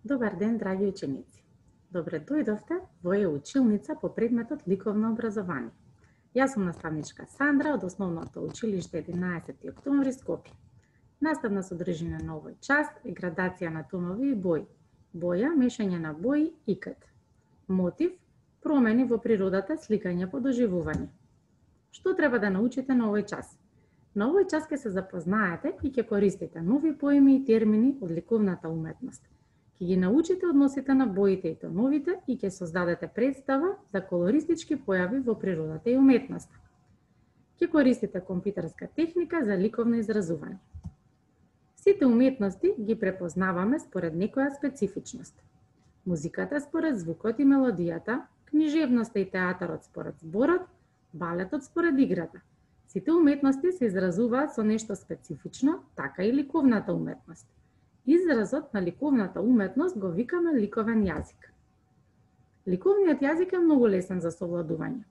Добар ден, драги ученици! Добре дојдовте во училница по предметот ликовно образование. Јас сум наставничка Сандра од Основното училиште 11 октомври Скопје. Наставна содржина на овој час е градација на тонови и бои. Боја, мешање на бои, икт. Мотив, промени во природата, сликање по доживување. Што треба да научите на овој час? На овој час ќе се запознаете и ќе користите нови поими и термини од ликовната уметност. Ќе ги научите односите на боите и тоновите и ќе создадете представа за колористички појави во природата и уметноста. Ќе користите компјутерска техника за ликовно изразување. Сите уметности ги препознаваме според некоја специфичност. Музиката според звукот и мелодијата, книжевноста и театарот според зборот, балетот според играта. Сите уметности се изразуваат со нешто специфично, така и ликовната уметност. Изразот на ликовната уметност го викаме ликовен јазик. Ликовниот јазик е многу лесен за совладување.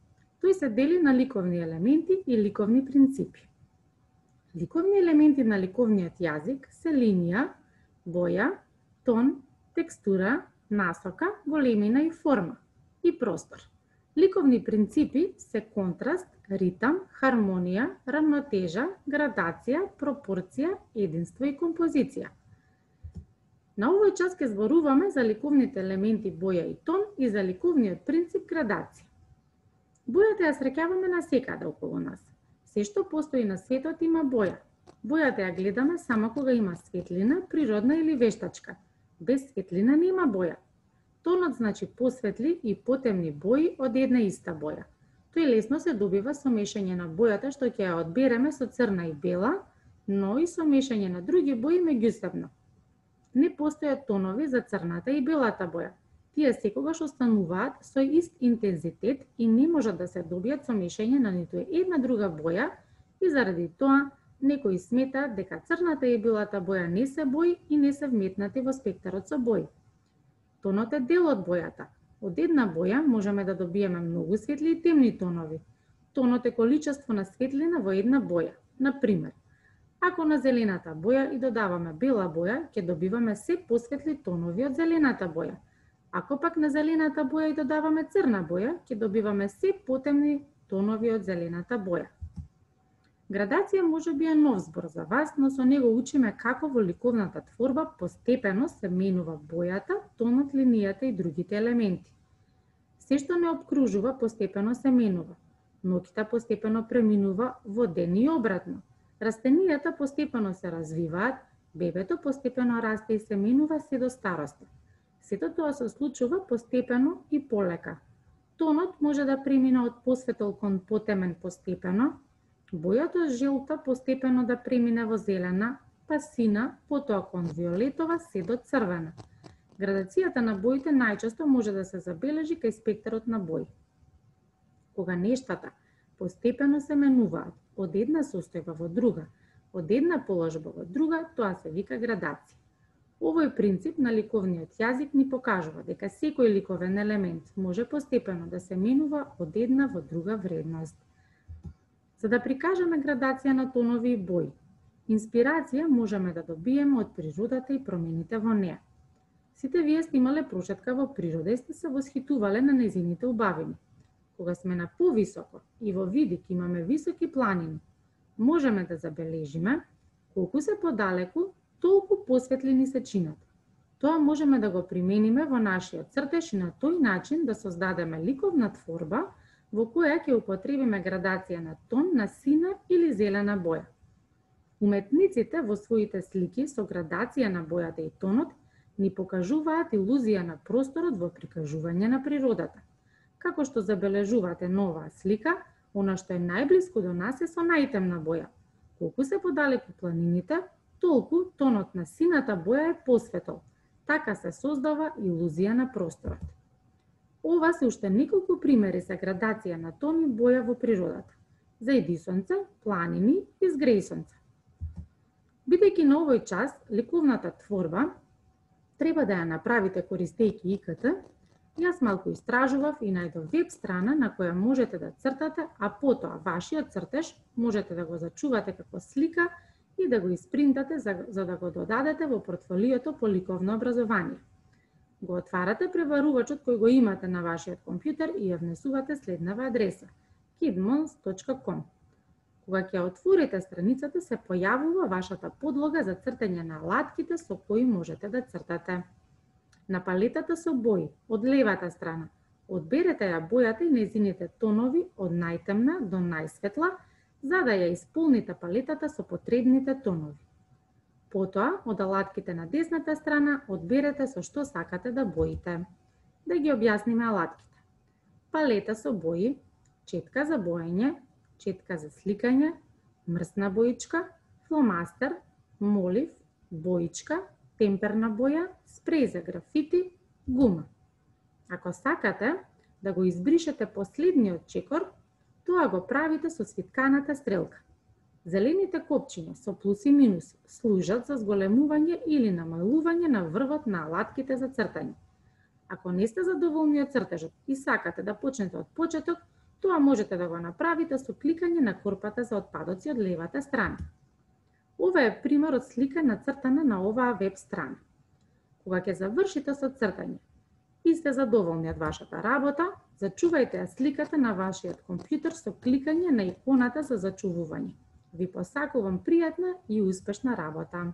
Тој се дели на ликовни елементи и ликовни принципи. Ликовни елементи на ликовниот јазик се линија, боја, тон, текстура, насока, големина и форма и простор. Ликовни принципи се контраст, ритам, хармонија, рамнотежа, градација, пропорција, единство и композиција. На овој час ќе зборуваме за ликовните елементи боја и тон и за ликовниот принцип градација. Бојата ја среќаваме насекаде околу нас. Се што постои на светот има боја. Бојата ја гледаме само кога има светлина, природна или вештачка. Без светлина нема боја. Тонот значи посветли и потемни бои од една иста боја. Тој лесно се добива со мешање на бојата што ќе ја одбереме со црна и бела, но и со мешање на други бои меѓусебно. Не постојат тонови за црната и белата боја. Тие секогаш остануваат со ист интензитет и не можат да се добијат со мешање на ниту една друга боја и заради тоа некои сметаат дека црната и белата боја не се бои и не се вметнати во спектарот со бои. Тонот е дел од бојата. Од една боја можеме да добиеме многу светли и темни тонови. Тонот е количество на светлина во една боја. Например, ако на зелената боја и додаваме бела боја, ќе добиваме се посветли тонови од зелената боја. Ако пак на зелената боја и додаваме црна боја, ќе добиваме се потемни тонови од зелената боја. Градација можеби е нов збор за вас, но со него учиме како во ликовната творба постепено се менува бојата, тонот, линијата и другите елементи. Се што не обкружува постепено се менува. Ноќта постепено преминува во ден и обратно. Растенијата постепено се развиваат, бебето постепено расте и се менува се до староста. Сето тоа се случува постепено и полека. Тонот може да премине од посветол кон потемен постепено, бојата желта постепено да премине во зелена, па сина, потоа кон виолетова се до црвена. Градацијата на боите најчесто може да се забележи кај спектарот на бои. Кога нештата постепено се менуваат од една состојба во друга, од една положба во друга, тоа се вика градација. Овој принцип на ликовниот јазик ни покажува дека секој ликовен елемент може постепено да се менува од една во друга вредност. За да прикажеме градација на тонови и бои, инспирација можеме да добиеме од природата и промените во неа. Сите вие сте имале прошетка во природа и сте се восхитувале на нејзините убавини. Кога сме на повисоко и во видик имаме високи планини, можеме да забележиме колку се подалеку, толку посветлени се чинат. Тоа можеме да го примениме во нашиот цртеж и на тој начин да создадеме ликовна творба во која ќе употребиме градација на тон, на сина или зелена боја. Уметниците во своите слики со градација на бојата и тонот ни покажуваат илузија на просторот во прикажување на природата. Како што забележувате на оваа слика, она што е најблиску до нас е со најтемна боја. Колку се подалеку планините, толку тонот на сината боја е посветол. Така се создава илузија на просторот. Ова се уште неколку примери за градација на тон и боја во природата. За едисонце, планини и згрејсонце. Бидејќи на овој час ликовната творба треба да ја направите користејќи ИКТ, јас малку истражував и најдов веб страна на која можете да цртате, а потоа вашиот цртеж можете да го зачувате како слика и да го испринтате за да го додадете во портфолиото по ликовно образование. Го отварате преварувачот кој го имате на вашиот компјутер и ја внесувате следнава адреса kidmons.com. Кога ќе отворите страницата, се појавува вашата подлога за цртање на алатките со кои можете да цртате. На палетата со бои, од левата страна, одберете ја бојата и нејзините тонови од најтемна до најсветла, за да ја исполните палетата со потребните тонови. Потоа, од алатките на десната страна, одберете со што сакате да боите. Да ги објасниме алатките. Палета со бои, четка за боење, четка за сликање, мрсна боичка, фломастер, молив, боичка, темперна боја, спреј за графити, гума. Ако сакате да го избришете последниот чекор, тоа го правите со свитканата стрелка. Зелените копчиња со плюс и минус служат за зголемување или намалување на врвот на алатките за цртање. Ако не сте задоволни од цртежот и сакате да почнете од почеток, тоа можете да го направите со кликање на корпата за отпадоци од левата страна. Ова е пример од слика нацртана на оваа веб страна. Кога ќе завршите со цртање и сте задоволни од вашата работа, зачувајте ја сликата на вашиот компјутер со кликање на иконата за зачувување. Ви посакувам пријатна и успешна работа!